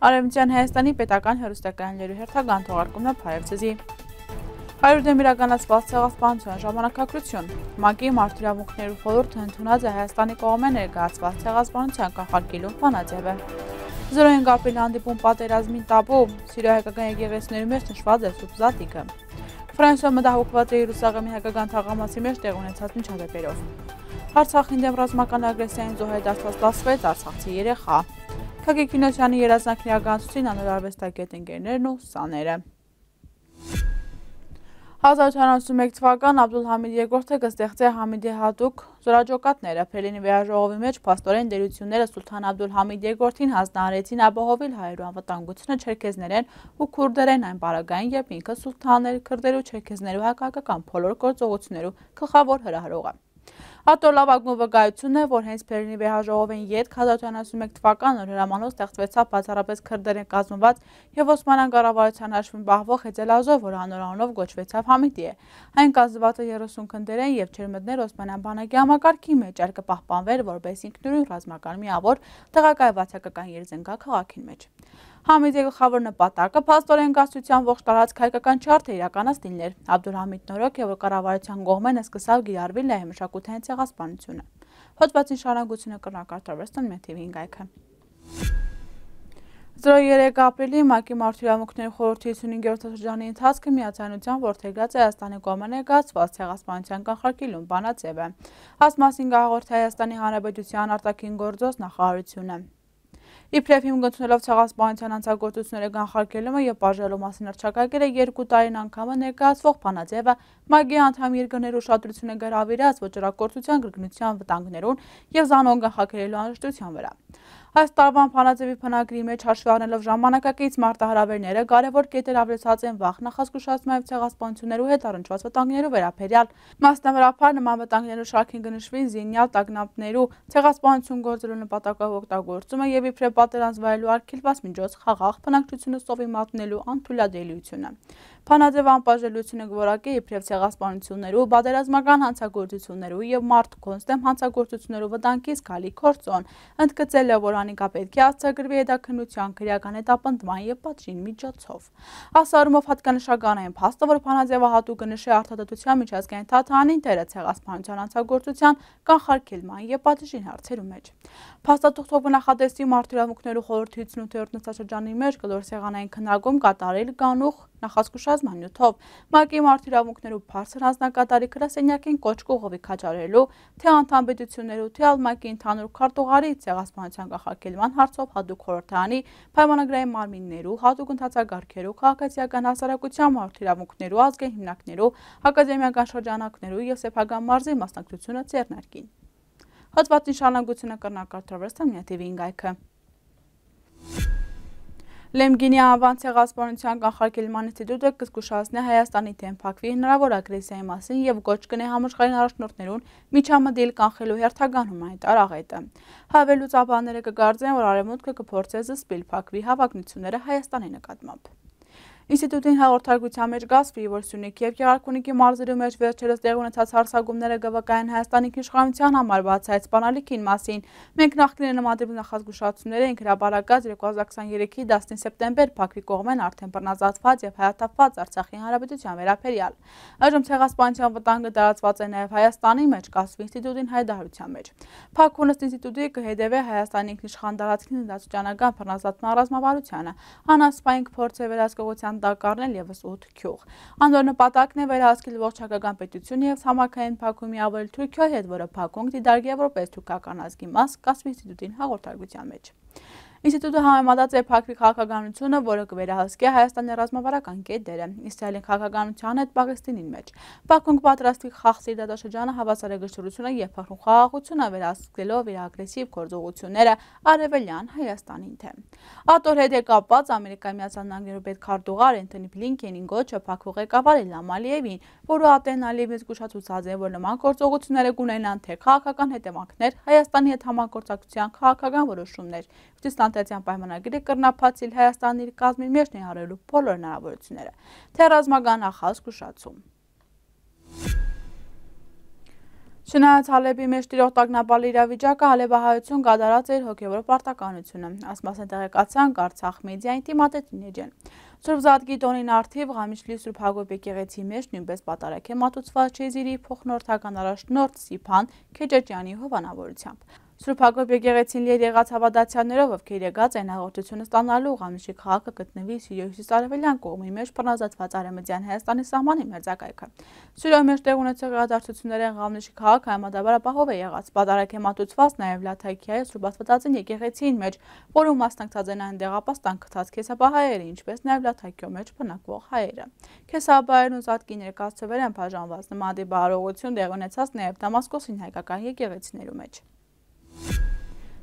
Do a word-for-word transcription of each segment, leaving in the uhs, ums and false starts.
Արևմտյան Հայաստանի պետական հեռուստակայաններու հերթական թողարկումն է Փարեվցեզի։ Հայրուդեմ իրականացված ցեղասպանության ժամանակագրություն։ ՄԱԿ-ի մարդիրավունքներու խորհուրդը ընդունած է Հայաստանի կողմէ ներկայացված ցեղասպանության կանխարգելում բանաձևը։ Զրոյին ապրիլի հանդիպում պատերազմին տաբու, Սիրիա հայկական եկեղեցիներու մեջ նշված է Սուրբ Զատիկը։ Ֆրանսիայում մտահոգված է Երուսաղեմի հայկական թաղամասի մեջ տեղ ունեցած միջադեպերով։ Արցախին դեմ ռազմական ագրեսիային զոհեդարձված տասվեց արցախցի երեխա։ Թագի Քինոսյանի երազանքն իրականացուցին անոր արվեստագետ ընկերներն ու սաները։ հազար ութ հարյուր ութսունմեկ թվական Աբդուլհամիդ երկրորդը կստեղծե Համիդի հատուկ զորաճոկատները Փելինի վերաժողովի մեջ փաստորեն դերությունները Սուլթան Աբդուլհամիդ երկրորդին հանձնարարեցին ապահովել հայերու անվտանգությունը չերքեզներեն ու քուրդերեն այն պարագային, երբ ինքը սուլթաններ, քրդերու, չերքեզներու հակահայկական բոլոր գործողություններու գլխավոր հրահրողը։ Հատոր լավագույն վկայությունն է, որ հենց Փելինի վերաժողովին ետք հազար ութ հարյուր ութսունմեկ թվական նոր հրամանով ստեղծվեցավ բացառապես քրդերեն կազմված եւ Օսմանյան կառավարության հաշվին պահվող Հեծելազով, որ անոր անունով գոչվեցավ Համիդի է։ Այն կազմված է երեսուն քնդերեն եւ չէր մտներ Օսմանյան բանակի համակարգի մեջ, այլ կպահպանվեր որպես ինքնուրույն ռազմական միավոր տեղակայված հայկական երզենգա քաղաքին մեջ։ Համիդի գլխավոր նպատակը փաստորեն գասության ողջ տարածք հայկական չարթը իրականացնելն էր։ Աբդուլհամիդն օրոք եւ կառավարության կողմեն սկսավ գիրառվել լայ մշակութային ցեղասպանությունը։ Հոդվածին շարունակությունը կրնակարտավորվեց տոնմեթիվին գայքը։ Զրոյերեք ապրիլի ՄԱԿ-ի մարդիրավունքներու խորհրդի հիսունհինգերորդ շրջանի ընթացքը միացայնությամբ որդեգրած է Հայաստանի կողմէ ներկայացված ցեղասպանության կանխարգելում բանաձևը։ Այս մասին կհաղորդի Հայաստանի Հանրապետության արտաքին գործոս նախարարությունը։ Իբրև հիմք ընդունելով ցեղասպանության հանցագործությունների կանխարգելումը եւ բաժանելու մասին հռչակագրել է երկու տարին անգամը ներկայացվող բանաձևը ՄԱԿ-ի անդամ երկրներու ուշադրությունը գրավիրած ոճրագործության կրկնության վտանգներուն եւ զանոն կանխարգելելու անհրաժեշտության վրա։ Այս տարվան բանաձևի բնագրի մեջ հաշվի առնելով ժամանակակից մարտահրավերները կարևոր կետեր ավելացած են վաղ նախազգուշացման եւ ցեղասպանություններու հետ առնչված վտանգներու վերաբերյալ։ Մասնավորապես նման վտանգներու շարքին կնշվի զինյալ տագնապներու ցեղասպանություն գործելու նպատակով օգտագործումը եւ իբրև պատերազմ վայելու արգելված միջոց խաղաղ բնակչությունը սովի մատնելու անթույլատրելիությունը։ Բանաձևը անպաշտպանությունը կորակի իբրև ցեղասպանություններու, պատերազմական հանցագործություններու եւ մարդկոնց դեմ հանցագործություններու վտանգից գալի կորձոն, ընդգծել է, որ անիկա պետք է արձակրվի հետաքննության քրեական հետապնդման եւ պատժին միջոցով։ Ասարումով հատկանշական է փաստը, որ բանաձևը հատուկ կնշի արտադրության միջազգային թաթանին դերը ցեղասպանության հանցագործության կանխարգելման եւ պատժին հարցերու մեջ։ Փաստաթղթով նախատեսի մարդիրավունքներու խորհրդի հիսունութերորդ նստաշրջանի մեջ կլոր սեղանային քննարկում կատարել կանուխ նախազգուշացման նյութով ՄԱԿ-ի մարդիրավունքներու բարձր հանձնակատարի գրասենյակին կոչ կողովի քաջարելու, թե անդամ պետություններու, թե ՄԱԿ-ի ընդհանուր քարտուղարի ցեղասպանության կանխարգելման հարցով հատուկ խորհրդարանի պայմանագրային մարմիններու, հատուկ ընդհանցագարքերու, քաղաքացիական հասարակության մարդիրավունքներու ազգային հիմնարկներու, ակադեմիական շրջանակներու եւ սեփական մարզի մասնակցությունը ձեռնարկին։ Հոդվածին շարունակությունը կրնակարտավորվեց տոնմեթիվին գայքը։ Լեմգինի անվան ցեղասպանության կանխարգելման ինստիտուտը կզգուշացնի Հայաստանի դեմ փակվի հնարավոր ագրեսիայի մասին եւ գոչ կնի համաշխարհային առաջնորդներուն միջամտել կանխելու հերթական հումանիտար աղետը։ Հավելուծաբանները կգարձեն, որ Արևմուտքը կփորձի զսպել փակվի հավակնությունները Հայաստանի նկատմամբ։ Ինստիտուտին հաղորդարկության մեջ գասվի, որ Սյունիքի եւ Գեղարքունիքի մարզերու մեջ վերջերս տեղ ունեցած հարձակումները գվկային Հայաստանի իշխանության համար բացայց սպանալիքին մասին։ Մենք նախկին նմանատիպ նախազգուշացումներ ենք հրապարակած երկու հազար քսաներեքի դասնին սեպտեմբեր փակվի կողմեն արդեն բռնազատված եւ հայաթափված Արցախի հանրապետության վերաբերյալ։ Այժմ ցեղասպանության վտանգը տարածված է նաեւ Հայաստանի մեջ, գասվի ինստիտուտին հայտարարության մեջ։ Փակունս ինստիտուտի կհետևե Հայաստանի ինքնիշխան տարածքին դասուճանական բռնազատման ռազմավարությանը։ Անասպային փորձ է վերահսկողության դակառնել եւս ութ գյուղ։ Անոր նպատակն է վերահսկել ողջ հայկական պետությունը եւ համակային փակում միավորել Թուրքիայի հետ, որը փակում դիտարկի եվրոպայից թուրքական ազգի մաս, կասվի ինստիտուտին հաղորդարկության մեջ։ Ինստիտուտը համեմատած է փակվի քաղաքականությունը, որը կվերահսկի Հայաստանի ռազմավարական կետերը, Իսրայելի քաղաքականության հետ Պաղեստինին մեջ։ Բաքուն կպատրաստվի խախտի դատաշրջանը հավասարակշռությունը եւ փախրուն խաղաղությունը վերահսկելով իր ագրեսիվ գործողությունները արևելյան Հայաստանին թեմ։ Ատոր հետ է կապված Ամերիկայի Միացյալ Նահանգներու պետքարտուղար Էնթոնի Բլինքենին գոչը փակվող ղեկավար Իլհամ Ալիևին, որը ատենալիվից զգուշացուցած է, որ նման գործողությունները կունենան թե քաղաքական հետևանքներ, Հայաստանի հետ համագործակցության քաղաքական որոշումներ։ Ստանտեցյան պայմանագիրը կրնափացիլ Հայաստանի իր կազմի մեջ ներառելու բոլոր հնարավորությունները, թե ռազմական նախազգուշացում։ Չնայած Հալեբի մեջ տիրող տագնապալի իրավիճակը, հալեբահայություն գադարած էր հոգևոր պարտականությունը։ Այս մասին տեղեկացանք Արցախ մեդիայի թիմադեդին։ Սուրբ Զատկի տոնին արդիվ Ղամիչլի Սուրբ Հակոբ եկեղեցի մեջ նույնպես պատարակ է մատուցված Չեզիրի փոխնորդական առաջնորդ Սիփան Քեջեջյանի հովանավորությամբ։ Սուրբ Հակոբ եկեղեցին լի էր եղած հավատացյալներով, ովքեր եկած են հաղորդությունը ստանալու Ղամիչի քաղաքը գտնվի Սիրիայի հյուսիսարևելյան կողմի մեջ բռնազատված Արևմտյան Հայաստանի սահմանի մերձակայքը։ Սիրիայի մեջ տեղ ունեցող իրադարձություններն Ղամիչի քաղաքը համադաբար ապահով է եղած։ Պատարակ է մատուցված նաև Լաթայքիայի Սուրբ Աստվածածին եկեղեցին մեջ, որում մասնակցած են այնտեղ ապաստան գտած քեսապահայերը, ինչպես նաև Լաթայքիո մեջ բնակվող հայերը։ Քեսապահայերն ու Զատկի ներկայացուցիչները բաժանված նման բարողություն տեղ ունեցած նաև Դամասկոսին հայկական եկեղեցիներու մեջ։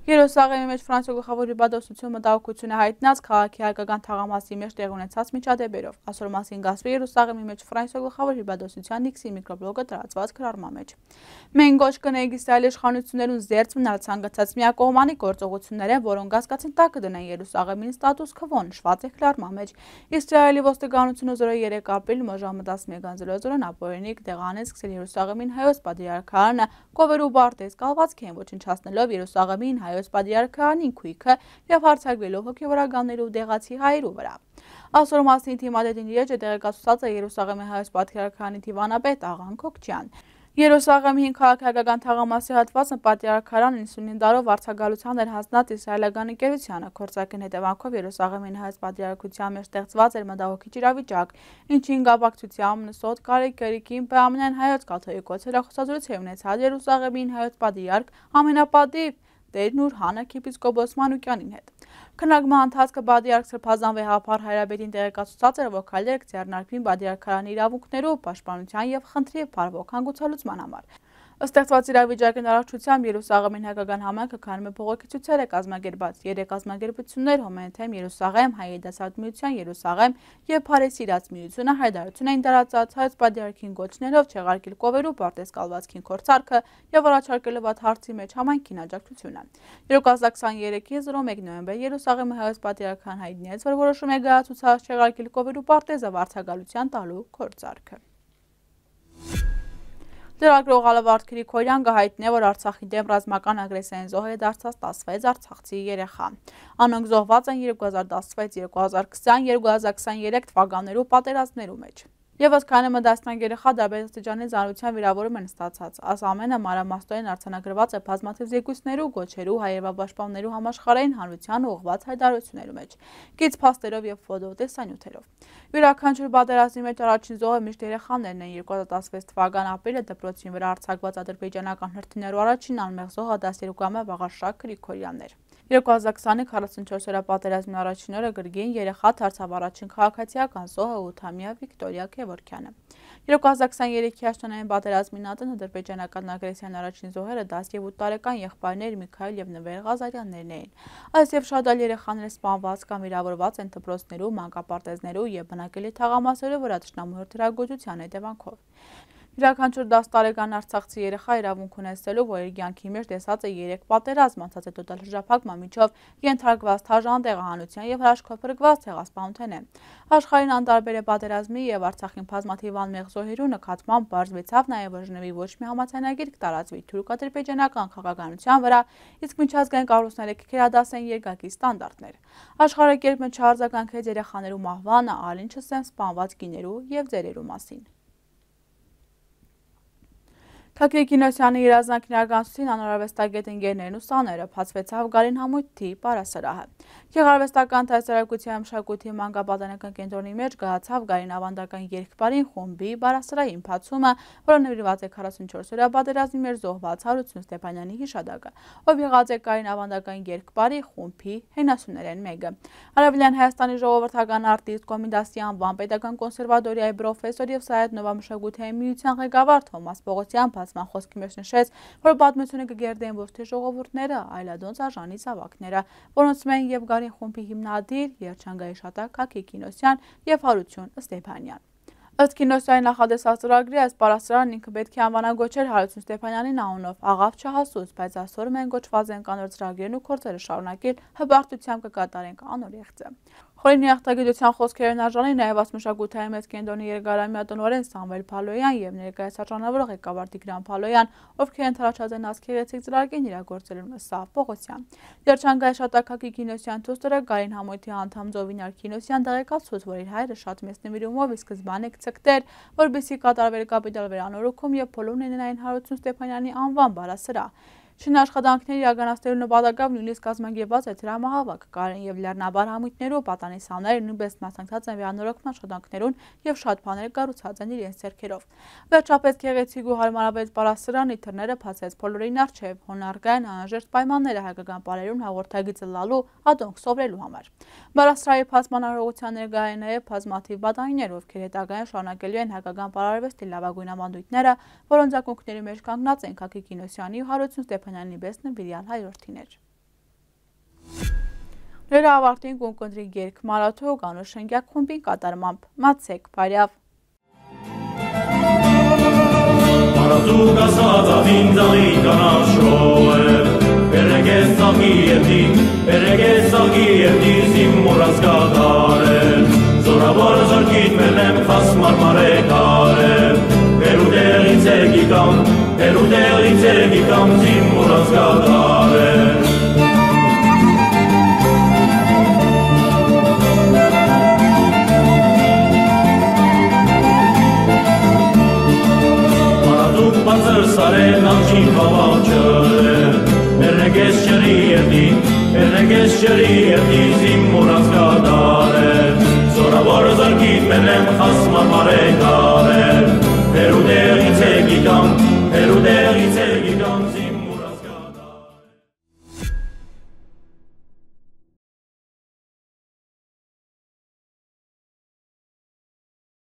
Երուսաղեմի մեջ Ֆրանսիո գլխավոր հիբադոսություն մտահոգություն է հայտնած քաղաքի հայկական թաղամասի մեջ տեղ ունեցած միջադեպերով։ Այսօր մասին գասվի Երուսաղեմի մեջ Ֆրանսիո գլխավոր հիբադոսության Նիքսի միկրոբլոգը տարածված գրառման մեջ։ Մենք ոչ կնենք Իսրայելի իշխանություններուն զերծ մնալ ցանկացած միակողմանի գործողությունները, որոնք հասկացին տակը դնեն Երուսաղեմին ստատուս քվո նշված է գրառման մեջ։ Իսրայելի ոստիկանությունը զորը երեք ապրիլ մոժամը տասնմեկ զորոն ապօրինիկ տեղանեց սկսել Երուսաղեմին հայոց պատրիարքարանը կովերու բարտեզ կալվածք են ոչնչացնելով Երուսաղեմին հայոց պատրիարքարանին քույքը եւ հարձակվելով հոգեվորականներու դեղացի հայերու վրա։ Այսօր մասին թիմադեդին իրեջը տեղեկացուցած է Երուսաղեմի հայոց պատրիարքարանի դիվանապետ Աղան Քոքչյան։ Երուսաղեմի հին քաղաքական թաղամասի հատվածը պատրիարքարան իննսունին դարով վարձակալության էր հասնած իսրայելական ընկերությանը։ Գործակին հետևանքով Երուսաղեմին հայոց պատրիարքության մեջ ստեղծված էր մտահոգիչ իրավիճակ, ինչին կապակցությամբ Նսոտ Կարեկերիկին բամնեն հայոց կաթողիկոս հեռախոսազրույց է ունեցած Երուսաղեմին հայոց պատրիարք ամենապատիվ Տեր Նուրհան arczepiskopos Մանուկյանին հետ։ Քննարկման ընթացքը պատրիարք Սրբազան վեհապար Հայրաբեդին տեղեկացուցած էր, որ քայլեր կձեռնարկվին պատրիարքարանի իրավունքներու պաշտպանության եւ խնդրի փառվող հանգուցալուծման համար։ Ստեղծված իրավիճակի առողջությամբ Երուսաղեմին հայկական համայնքը քանում է բողոքի ցույցեր է կազմակերպած։ Երեք կազմակերպություններ Հոմենթեմ Երուսաղեմ, Հայդասատ միության Երուսաղեմ եւ Փարեսի իրաց միությունը հայտարարություն էին տարածած հայոց պատրիարքին գոչներով չեղարկել կովերու պարտեզ կալվածքին կորցարքը եւ առաջարկելով այդ հարցի մեջ համայնքին աջակցությունը։ երկու հազար քսաներեքի մեկ նոյեմբեր Երուսաղեմի հայոց պատրիարքան հայտնեց, որ որոշում է գայացուցած չեղարկել կովերու պարտեզը վարձակալության տալու կորցարքը։ Լրագրող Ալավարդ Քրիքորյան կհայտնի է, որ Արցախի դեմ ռազմական ագրեսիային զոհ է դարձած տասնվեց արցախցի երեխա։ Անոնք զոհված են երկու հազար տասնվեց երկու հազար քսան երկու հազար քսաներեք թվականներու պատերազմներու մեջ։ Եվս քանի մտածնակ երեխա դարբեր աստիճանի զանության վիրավորում են ստացած։ Այս ամենը մանրամասնորեն արձանագրված է բազմաթիվ զեկույցներու, գոչերու, հայրենապաշտպաններու համաշխարհային հանրության ուղղված հայտարարություններու մեջ, գիծ փաստերով եւ ֆոտոտեսանյութերով։ Յուրաքանչյուր պատերազմի մեջ առաջին զոհը միշտ երեխաներն են։ երկու հազար տասնվեց թվական ապրիլը դպրոցին վրա արձակված ադրբեջանական հրթիռներու առաջին անմեղ զոհը դասերուկամը Վաղարշակ Գրիգորյանն էր։ երկու հազար քսանի քառասունչորս օրյա պատերազմի առաջին օրը գրգին երեխա դարձավ առաջին քաղաքացիական զոհը ութամյա Վիկտորիա Քևորքյանը։ երկու հազար քսաներեքի աշտանային պատերազմի նատն ադրբեջանական ագրեսիան առաջին զոհերը դաս եւ ութ տարեկան եղբայրներ Միքայել եւ Նվեր Ղազարյաններն էին։ Այս եւ շատ այլ երեխաներ սպանված կամ վիրավորված են դպրոցներու, մանկապարտեզներու եւ բնակելի թաղամասերու վրա թշնամու հրթիռագործության հետևանքով։ Յուրաքանչյուր դաս տարեկան արցախցի երեխա իրավունք ունեցելու, որ իր կյանքի մեջ տեսած է երեք պատերազմ, անցած է տոտալ հրաժարակման միջով ենթարկված թաժան տեղահանության եւ հրաշքով փրկված ցեղասպանության է։ Աշխարհին անտարբեր է պատերազմի եւ Արցախին բազմաթիվ անմեղ զոհերու նկատմամբ բարձվեցավ նաեւ որ Ժնևի ոչ մի համաձայնագիր կտարածվի թուրք-ադրբեջանական քաղաքականության վրա, իսկ միջազգային կառույցները կքերադասեն երկակի ստանդարտներ։ Աշխարհը կերպ չարձագանքեց երեխաներու մահվանը, այլ ինչս են սպանված կիներու եւ ձերերու մասին։ Թաքեյ Կինոսյանի երազանքին արձանցին անորավեստագետ ընկերներն ու սաները փածվեցավ Գարին Համույթի պարասրահը։ Գեղարվեստական տեսարակության մշակույթի մանկապատանեկան կենտրոնի մեջ գահացավ Գարին ավանդական երկպարին խումբի պարասրահի ընթացումը, որը նվիրված է քառասունչորս օրյա պատերազմի մեջ զոհված Հարություն Ստեփանյանի հիշադակը, ով եղած է Գարին ավանդական երկպարի խումբի հենասյուներեն մեկը։ Արևելյան Հայաստանի ժողովրդական արտիստ Կոմինդասի անվան պետական կոնսերվատորիայի պրոֆեսոր եւ Սայեդ Նովա մշակութային միության ղեկավար Թոմաս Պողոսյան Բացման խոսքի մեջ նշեց, որ պատմությունը կգերդեն ոչ թե ժողովուրդները, այլ ադոնց արժանի զավակները, որոնց մեն եւ Գարին խումբի հիմնադիր Երջանկայի շատակ Թաքեյ Կինոսյան եւ Հարություն Ստեփանյան։ Ըստ Կինոսյանի նախադեсած ծրագրի այս պարասրահն ինքը պետք է անվանագոչեր Հարություն Ստեփանյանին անունով աղավ չհասուց, բայց այսօր մենք գոչված ենք անոր ծրագրերն ու գործերը շարունակել հբարտությամբ կկատարենք անոր եղծը։ Խորին երախտագիտության խոսքերն արժանի նաև ասմշակութային մեծ կենտրոնի երկարամյա տնօրեն Սամվել Փալոյան եւ ներկայիս արժանավորող ղեկավար Տիգրան Փալոյան, ովքեր ընթരാճած են ասկերեցիկ ծրագիրն իրագործելու Սաղ Պողոսյան։ Երջանկայի Շատակակի Կինոսյան դուստրը Գարին Համույթի անդամ Զովինար Կինոսյան տեղեկացուց, որ իր հայրը շատ մեծ նվիրումով ի սկզբանե կցկտեր, որպեսզի կատարվեր կապիտալ վերանորոգում եւ փոլում լինեն Հարություն Ստեփանյանի անվան բառասրահ։ Շինաշխատանքների իրականացնելու նպատակով նույնիսկ կազմակերպված է դրամահավաք, Գարին եւ Լեռնաբար համույթներու պատանիսանները նույնպես մասնակցած են վերանորոգման աշխատանքներուն եւ շատ բաներ կառուցած են իրենց ձեռքերով։ Վերջապես գեղեցիկ ու հարմարավետ բառասրահն իթրները բացեց բոլորին առջև, հոնարգային անհրաժեշտ պայմանները հայկական պարերուն հաղորդագիծը լալու, ադոնք սովորելու համար։ Բառասրահի բացման արարողության ներկայ են նաեւ բազմաթիվ պատանիներ, ովքեր հետագայում շարունակելու են հայկական պարարվեստի լավագույն ավանդույթները, որոնց ակունքների մեջ կանգնած են Քակի Կինոսյանի ու Հարություն Ստեփանյանի պես նվիրյալ հայրորդիներ։ Նրա ավարտին կունկնդրի երգ Մարաթո Կանու շենգյակ խումբի կատարմամբ մացեք բարյավ։ Մարաթուկ ասածավին ձաղի կանաշոև, պերեգես ծաղի երդի, պերեգես ծաղի երդի զիմ մորած կատարել, զորավոր զորքիտ մենեմ խաս մարմարեկարել, պերուդեղից էգիկամ, պերուդեղից էգիկամ զիմ մորած կատարել։ Բացր սարեն անջին բավաճել, պերեգես ճրի երդի, պերեգես ճրի երդի զիմ մորած կատարել, զորավոր զորքիտ մենեմ խաս մարմարեկարել,